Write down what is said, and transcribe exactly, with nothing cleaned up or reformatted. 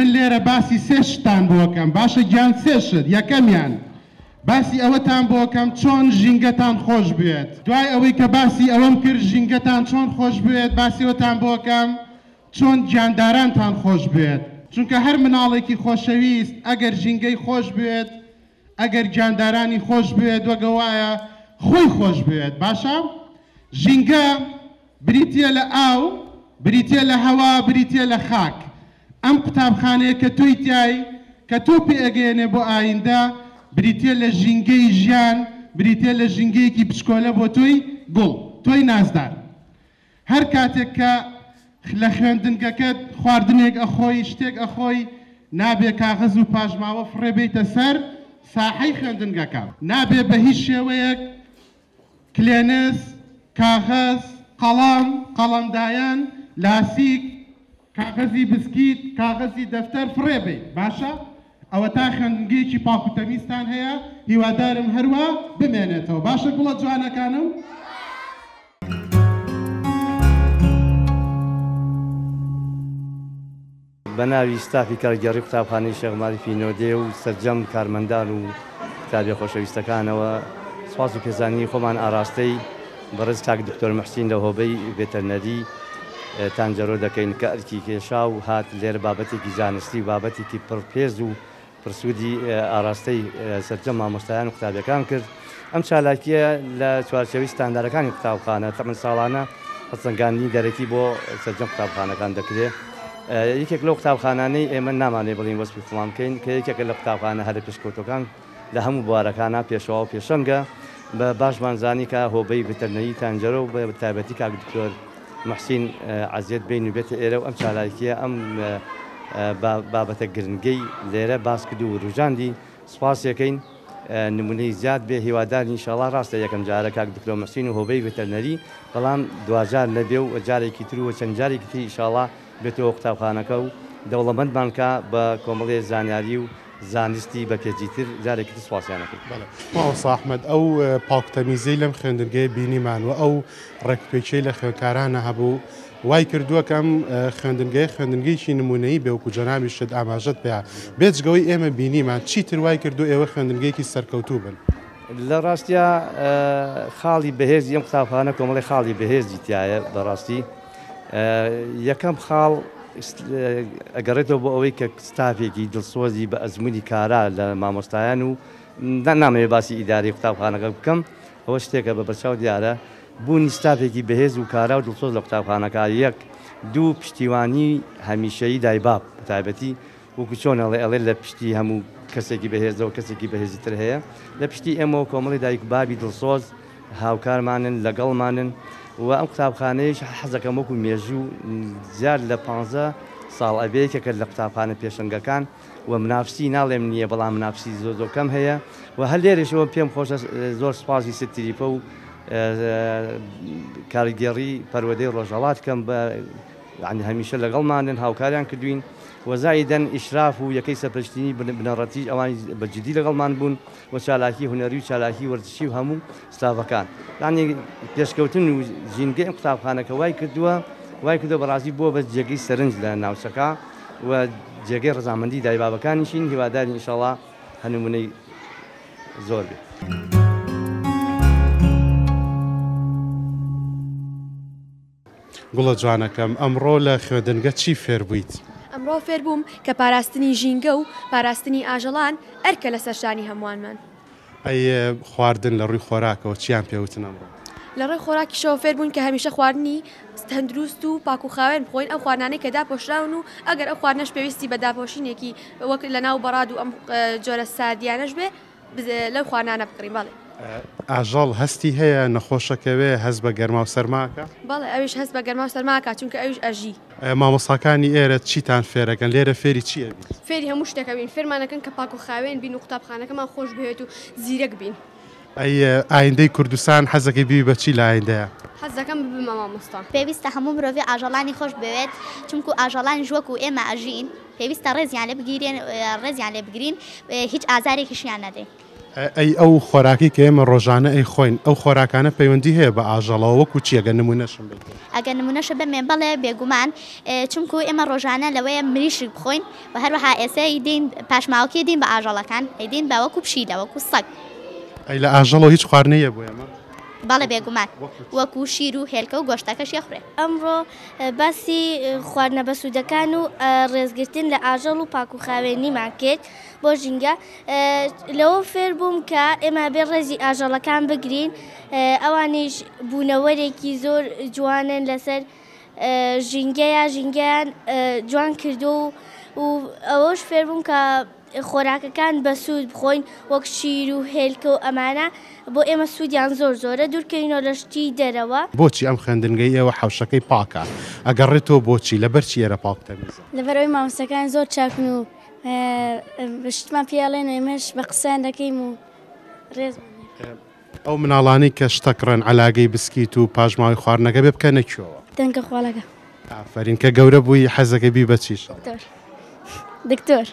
من لێرە باسی سێ شتان بۆکەم. باشە گیان، سێ شت. یەکەمیان باسی ئەوەتان بۆکەم چۆن ژینگەتان خۆش بێت. دوای ئەوەی کە باسی ئەوەم کرد ژینگەتان چۆن خۆش بێت، باسی ئەوەتان بۆکەم چۆن گیاندارانتان خۆش بێت. چونکە هەر مناڵێکی خۆشەویست ئەگەر ژینگەی خۆش بێت، ئەگەر گیاندارانی خۆش بێت، وەگەوایە خۆی خۆش بێت. باشە، ژینگە بریتیە لە ئاو، بریتیە لە هەوا، بریتیە لە خاک. ئەم قوتابخانەیە کە تۆی تای کە تۆ پێئەگەیەنێ بۆ ئایندە، بریتیە لە ژینگەی ژیان، بریتیە لە ژینگەیەکی بچکۆلە بۆ تۆی گوڵ، تۆی نازدار. هەر کاتێک کە لە خوێندنگەکەت خواردنێک ئەخۆی، شتێک ئەخۆی، نابێ کاغەز و پاشماوە فڕێ بیتە سەر ساحەی خوێندنگەکە. نابێ بە هیچ شێوەیەک کلێنس، کاغەز، قەڵەم، قەڵەمدایان، لاسیک، کاغەزی بسکیت، کاغەزی دەفتەر فڕێ بیت. باشە، ئەوە تا خوێندنگەیەکی پاک و تەمیزتان هەیە، هیوادارم هەروە بمێنێتەوە. باشە گوڵە جوانەکانم؟ بە ناوی ستافی کارگێڕی قوتابخانەی شێخ ماریفی نۆدێ و سەرجەم کارمەندان و قوتابیە خۆشەویستەکانەوە سوپاس و پێزانینی خۆمان ئاراستەی بەڕێز کاک دکتۆر محسین لە هۆبەی ڤێتەرنەری تانجەرۆ دەکەین کە ئەرکی کێشا و هات لێرە بابەتێکی زانستی و بابەتێکی پڕپێز و پرسوودی ئاراستەی سەرجەم مامۆستایان و قوتابیەکان کرد. ئەم چالاکیە لە چوارچێوەی ستاندارەکانی قوتابخانە تەمەن ساڵانە هەڵسەنگاندنی دەرەکی بۆ سەرجەم قوتابخانەکان دەکرێت. یەکێک لەو قوتابخانانەی ئێمە نامانێ بڵین وەسفی خۆمان بکەین کە یەکێکە لە قوتابخانە هەرە پێشکەوتوەکان لە هەموو بوارەکانە پێشەوا و پێشەنگە. بە باشمان زانی کە هۆبەی ڤێتەرنەری تانجەرۆ و بە تایبەتی کاک دکتۆر محسین عەزیەت بین و بێتە ئێرە و ئەم چالاکیە ئەم بابەتە گرنگەی لێرە باس کرد و وروژاندی. سوپاسیەکەین نمونەی زیاد بێ، هیوادار ئینشاڵڵا ڕاستە یەکەم جارە کاک دکتۆر محسین و هۆبەی ڤێتەرنەری، بەڵام دواجار نەبێ و جارێکی تر و چەند جارێکی تر ئینشاڵڵا بێتەوە قوتابخانەکە و دەوڵەمەندمان کە بە کۆمەڵێ زانیاری و زانستی بە پێجیتر جارێکی تر سوپاسیانەکەین. مامۆستا ئەحمەد، ئەو پاکتەمیزەی لەم خوێندنگەیە بینیمان و ئەو ڕێکوپێکیەی لە خوێندکارانە هەبوو وای کردووە کە ئەم خوێندنگەیە خوێندنگەیەکی نمونەیی بێ، وەکو جەنابیشت ئاماژەت پێیا. بێجگەوەی ئێمە بینیمان چیتر وای کردو ئێوە خوێندنگەیەکی سەرکەوتوو بن؟ لە ڕاستیا خاڵی بەهێزی ئەم قوتابخانە کۆمەڵی خاڵی بەهێزی تایە. بەڕاستی یەکەم خاڵ ئەگەڕێتەوە بۆ ئەوەی کە ستافێکی دڵسۆزی بە ئەزمموی کارا لە مامۆستایان و نامەوێ باسی ئیداری قوتابخانەکە بکەم، ئەوە شتێکە بە بەرچاو دیارە. بوونی ستافێکی بەهێز و کارا و دڵسۆز لە قوتابخانەکە یەک، دوو پشتیوانی هەمیشەیی دایباب بەتایبەتی وەکو چۆن ئەڵێ ئەڵێ لە پشتی هەموو کەسێکی بەهێزەوە کەسێکی بەهێزی تر هەیە، لە پشتی ئێمەوە کۆمەڵی دایک بابی دڵسۆز هاوکارمانن لەگەڵمانن. و ئەم قوتابخانەیەش حەزەکەم وەکو مێژوو زیاد لە پانزە ساڵ ئەبێ یەکێکە لە قوتابخانە پێشەنگەکان و منافسی ناڵێم نییە، بەڵام منافسی زۆر زۆر کەم هەیە. و هەر لێرەشەوە پێم خۆشە زۆر سوپاسی ست تریفە و کارگێڕی پەروەردەی ڕۆژهەڵات کەم بە یعنی هەمیشە لەگەڵمانن، هاوکاریان کردوین. و زایدەن ئیشراف و یەکەی سەرپەرشتینی بنەڕەتی ئەوانی بە جدی لەگەڵمان بوون و چالاکی هونەری و چالاکی وەرزشی و هەموو ستافەکان. یعنی پێشکەوتن و ژینگەی ئەم قوتابخانەکە وای کردووە وای کردووە بەڕاستی بووە بە جێگەی سەرنج لە ناوچەکە و جێگەی ڕەزامەندی دایبابەکانیشین. هیوادارین ئینشاڵڵا هەنمونەی زۆر بێت. گوڵە جوانەکەم، ئەمڕۆ لە خوێندنگە چی فێر بوویت؟ ئەمڕۆ فێر بووم کە پاراستنی ژینگە و پاراستنی ئاژەڵان ئەرکە لەسەر شانی هەمووانمان. ئەی خواردن لە ڕووی خۆراکەوە چیان پێوتن ئەمڕۆ؟ لە ڕووی خۆراکیشەوە فێر بوون کە هەمیشە خواردنی تەندروست و پاک و خاوێن بخۆین، ئەو خواردنانەی کە داپۆشراون و ئەگەر ئەو خواردنەش پێویستی بە داپۆشینێکی وەک لەناو بەڕاد و ئەم جۆرە ساردیانەش بێ لەو خواردنانە بکڕین. بەڵێ. ئاژەڵ هەستی هەیە نەخۆشەکەوێ هەست بە گەرما و سەرماکە؟ بەڵێ، ئەویش هەست بە گەرما و سەرماکە چونکە ئەویش ئەژی. مامۆستاکانی ئێرە چیتان فێرەکەن؟ لێرە فێری چی ئەبیت؟ فێری هەموو شتێکە بین، فێرمانەکەن کە پاک و خاوێن بین و قوتابخانەکەمان خۆش بهێت و زیرەک بین. ئەی ئایندەی کوردستان حەزەکەی بی بە چی لە ئایندەیە؟ حەزەکەم ببمە مامۆستا. پێویستە هەموو مرۆڤی ئاژەڵانی خۆش بوێت، چونکو ئاژەڵانیش وەکو ئێمە ئەژین، پێویستە ڕێزیان لێ بگیرێن، ڕێزیان لێ بگرین، هیچ ئازارێکیشیان نەدەین. ئەی ئەو خۆراکی کە ئێمە ڕۆژانە ئەی خۆین، ئەو خۆراکانە پەیوەندی هەیە بە ئاژەڵەوە وەکو چی؟ ئەگەر نمونەشم بیت. ئەگەر نمونەشە بەمێ بەڵێ بێگومان، چونکو ئێمە ڕۆژانە لەوەیە مریشک بخۆین و هەروەها ئێستا ئەیدین پاشماوەکەی دین بە ئاژەڵەکان، ئەیدین بە وەکو پشیلە وەکو سەگ. ئەی لە ئاژەڵەوە هیچ خواردنەیە بۆ ئێمە؟ بەڵێ بێگومان، وەکو شیر و هێلکە و گۆشتەکەش یەخورێ. ئەمڕۆ باسی خواردنە بەسوودەکان و ڕێزگرتن لە ئاژەڵ و پاک و خاوێنیمان کرد بۆ ژینگە. لەوە فێر بووم کە ئێمە بێ ڕێزی ئاژەڵەکان بگرین، ئەوانیش بوونەوەرێکی زۆر جوانن لەسەر ژینگەیە، ژینگەیان جوان کردو و ئەوەش فێر بووم کە خۆراکەکان بەسوود بخۆین وەک شیر و هێلکە و ئەمانە بۆ ئێمە سوودیان زۆر زۆرە، دوورکەینەوە لە شتی دەرەوە. بۆچی ئەم خوێندنگەی ئێوە حەوشەکەی پاکە؟ ئەگەڕێتەوە بۆچی؟ لەبەرچی ئێرە پاک تەمیزە؟ لەبەرەوەی مامۆستاکان زۆر چاکن و شتمان پێڵێن و ئێمەش بە قسەیان دەکەین و ڕێزمان. ئەو مناڵانەی کە شتەکڕن عەلاگەی بسکیت و پاشماوەی خواردنەکە بێ بکەنە کوێوە؟ دەنکە خواڵەکە. ئافەرین. کە گەورە بووی حەزەکەی بی بە چیش؟ دکتۆر. دکتۆر.